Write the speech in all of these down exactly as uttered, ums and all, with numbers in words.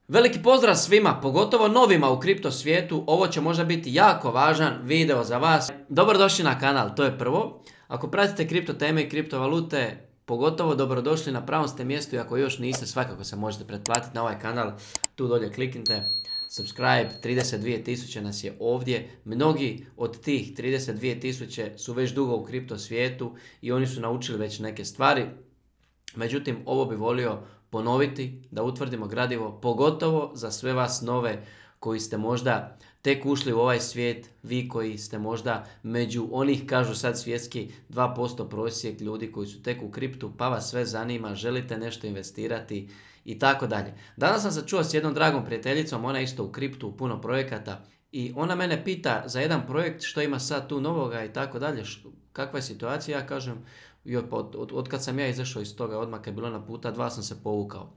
Veliki pozdrav svima, pogotovo novima u kripto svijetu. Ovo će možda biti jako važan video za vas. Dobrodošli na kanal, to je prvo. Ako pratite kripto teme i kriptovalute, pogotovo dobrodošli, na pravom ste mjestu i ako još niste, svakako se možete pretplatiti na ovaj kanal. Tu dolje kliknite subscribe, trideset dvije tisuće nas je ovdje. Mnogi od tih trideset dvije tisuće su već dugo u kripto svijetu i oni su naučili već neke stvari. Međutim, ovo bi volio ponoviti, da utvrdimo gradivo, pogotovo za sve vas nove koji ste možda tek ušli u ovaj svijet, vi koji ste možda među onih, kažu sad svjetski, dva posto prosjek ljudi koji su tek u kriptu, pa vas sve zanima, želite nešto investirati i tako dalje. Danas sam se čuo s jednom dragom prijateljicom, ona isto u kriptu, u puno projekata, i ona mene pita za jedan projekt što ima sad tu novoga i tako dalje, kakva je situacija. Ja kažem, joj, pa od, od, od kad sam ja izašao iz toga, odmah kad je bilo na puta dva, sam se povukao.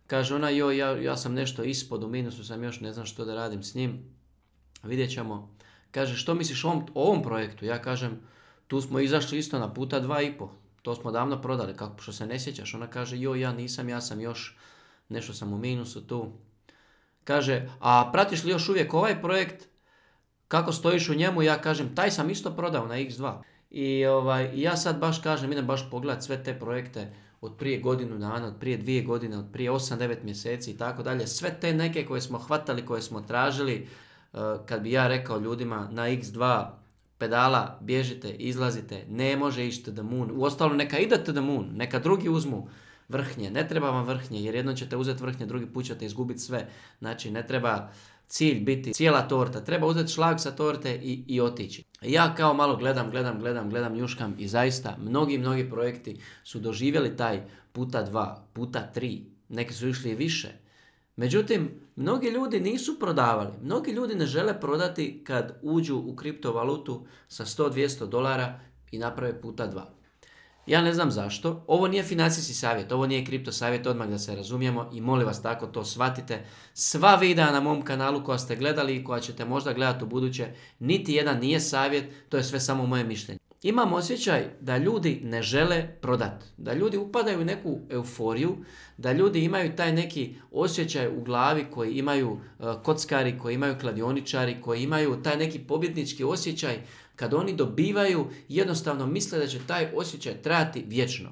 Kaže ona, joj, ja, ja sam nešto ispod, u minusu sam još, ne znam što da radim s njim, vidjet ćemo. Kaže, što misliš o ovom, o ovom projektu? Ja kažem, tu smo izašli isto na puta dva i po, to smo davno prodali, kako što se ne sjećaš? Ona kaže, joj, ja nisam, ja sam još, nešto sam u minusu tu. Kaže, a pratiš li još uvijek ovaj projekt? Kako stojiš u njemu? Ja kažem, taj sam isto prodao na iks dva. I ovaj, ja sad baš kažem, idem baš pogledat sve te projekte od prije godinu dana, od prije dvije godine, od prije osam devet mjeseci i tako dalje. Sve te neke koje smo hvatali, koje smo tražili, kad bi ja rekao ljudima na iks dva pedala, bježite, izlazite, ne može ići to the moon. Uostalom, neka ide to the moon, neka drugi uzmu vrhnje, ne treba vam vrhnje, jer jednom ćete uzeti vrhnje, drugi put ćete izgubiti sve. Znači, ne treba cilj biti cijela torta, treba uzeti šlag sa torte i, i otići. Ja kao malo gledam, gledam, gledam, gledam, njuškam i zaista mnogi, mnogi projekti su doživjeli taj puta dva, puta tri, neki su išli i više. Međutim, mnogi ljudi nisu prodavali, mnogi ljudi ne žele prodati kad uđu u kriptovalutu sa sto do dvjesto dolara i naprave puta dva. Ja ne znam zašto, ovo nije financijski savjet, ovo nije kripto savjet, odmah da se razumijemo, i molim vas tako to shvatite. Sva videa na mom kanalu koja ste gledali i koja ćete možda gledati u buduće, niti jedan nije savjet, to je sve samo moje mišljenje. Imam osjećaj da ljudi ne žele prodati, da ljudi upadaju u neku euforiju, da ljudi imaju taj neki osjećaj u glavi koji imaju uh, kockari, koji imaju kladioničari, koji imaju taj neki pobjednički osjećaj. Kad oni dobivaju, jednostavno misle da će taj osjećaj trajati vječno.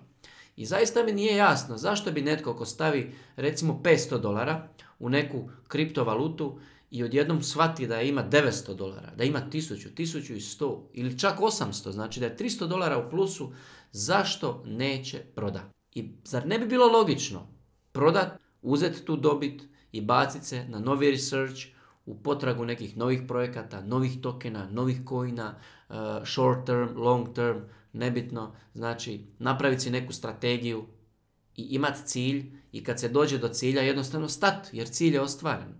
I zaista mi nije jasno zašto bi netko ko stavi recimo petsto dolara u neku kriptovalutu i odjednom shvati da ima devetsto dolara, da ima tisuću, tisuću i sto ili čak osamsto, znači da je tristo dolara u plusu, zašto neće prodati? I zar ne bi bilo logično prodati, uzeti tu dobit i baciti se na novi research, u potragu nekih novih projekata, novih tokena, novih coina, uh, short term, long term, nebitno. Znači, napraviti si neku strategiju i imati cilj, i kad se dođe do cilja jednostavno stati, jer cilj je ostvaren.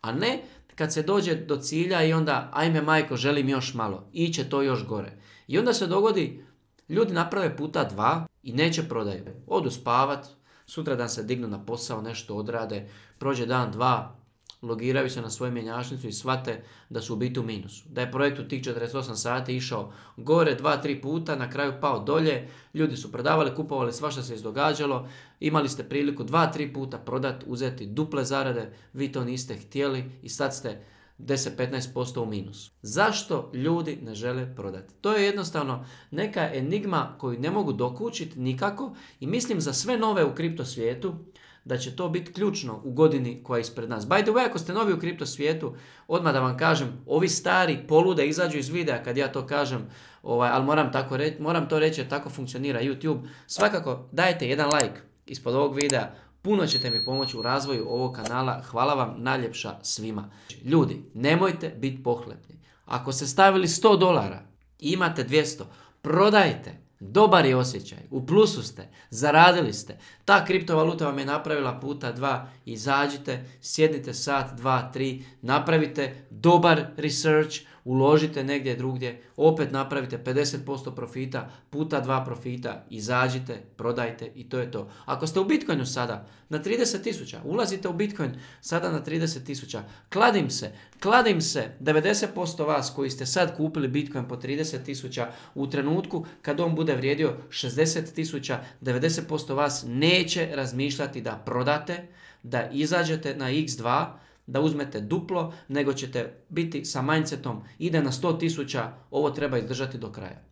A ne kad se dođe do cilja i onda, ajme majko, želim još malo, iće to još gore. I onda se dogodi, ljudi naprave puta dva i neće prodaju. Odu spavat, sutra dan se dignu na posao, nešto odrade, prođe dan, dva, logiraju se na svoju mjenjačnicu i shvate da su u biti u minusu. Da je projekt u tih četrdeset osam sati išao gore dva tri puta, na kraju pao dolje, ljudi su prodavali, kupovali, svašta se izdogađalo, imali ste priliku dva tri puta prodati, uzeti duple zarade, vi to niste htjeli i sad ste deset do petnaest posto u minusu. Zašto ljudi ne žele prodati? To je jednostavno neka enigma koju ne mogu dokučiti nikako i mislim za sve nove u kripto svijetu da će to biti ključno u godini koja je ispred nas. By the way, ako ste novi u kripto svijetu, odmah da vam kažem, ovi stari polude izađu iz videa kad ja to kažem, ovaj, ali moram, tako reći, moram to reći jer tako funkcionira YouTube. Svakako dajte jedan like ispod ovog videa, puno ćete mi pomoći u razvoju ovog kanala, hvala vam najljepša svima. Ljudi, nemojte biti pohlepni. Ako ste stavili sto dolara i imate dvjesto, prodajte. Dobar je osjećaj, u plusu ste, zaradili ste, ta kriptovaluta vam je napravila puta dva, izađite, sjednite sat, dva, tri, napravite dobar research, uložite negdje drugdje, opet napravite pedeset posto profita, puta dva profita, izađite, prodajte i to je to. Ako ste u Bitcoinu sada na trideset tisuća, ulazite u Bitcoin sada na trideset tisuća, kladim se, kladim se devedeset posto vas koji ste sad kupili Bitcoin po trideset tisuća, u trenutku kad on bude vrijedio šezdeset tisuća, devedeset posto vas neće razmišljati da prodate, da izađete na iks dva, da uzmete duplo, nego ćete biti sa mindsetom ide na sto tisuća, ovo treba izdržati do kraja.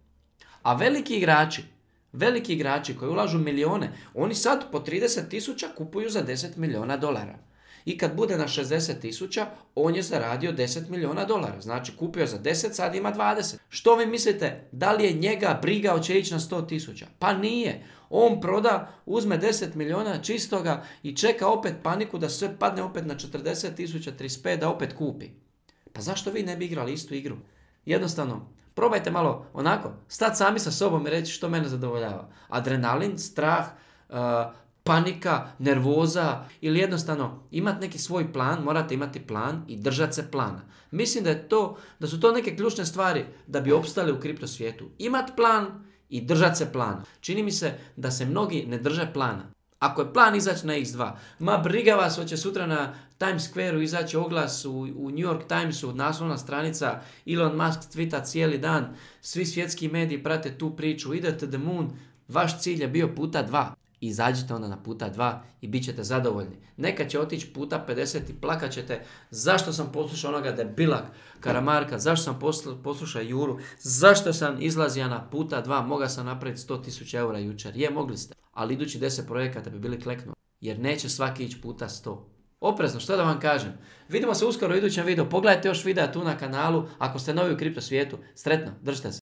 A veliki igrači, veliki igrači koji ulažu milijone, oni sad po trideset tisuća kupuju za deset milijuna dolara. I kad bude na šezdeset tisuća, on je zaradio deset milijuna dolara. Znači kupio za deset, sad ima dvadeset. Što vi mislite, da li je njega briga hoće ići na sto tisuća? Pa nije. On proda, uzme deset milijuna čistoga i čeka opet paniku da sve padne opet na četrdeset tisuća, trideset pet da opet kupi. Pa zašto vi ne bi igrali istu igru? Jednostavno, probajte malo onako, stati sami sa sobom i reći što mene zadovoljava. Adrenalin, strah, uh, panika, nervoza ili jednostavno imati neki svoj plan, morate imati plan i držati se plana. Mislim da, je to, da su to neke ključne stvari da bi opstali u kripto svijetu. Imati plan i držati se plana. Čini mi se da se mnogi ne drže plana. Ako je plan izaći na iks dva, ma briga vas, hoće sutra na Times Squareu izaći oglas u, u New York Timesu, naslovna stranica, Elon Musk twita cijeli dan, svi svjetski mediji prate tu priču, ide to the moon, vaš cilj je bio puta dva. Izađite onda na puta dva i bit ćete zadovoljni. Neka će otići puta pedeset i plakat ćete zašto sam poslušao onoga debilak Karamarka, zašto sam poslušao Juru, zašto sam izlazio na puta dva, mogao sam napraviti sto tisuća eura jučer. Je, mogli ste, ali idući deset projekata bi bili kleknu, jer neće svaki ići puta sto. Oprezno, što da vam kažem? Vidimo se uskoro u idućem videu, pogledajte još videa tu na kanalu, ako ste novi u kripto svijetu, sretno, držite se.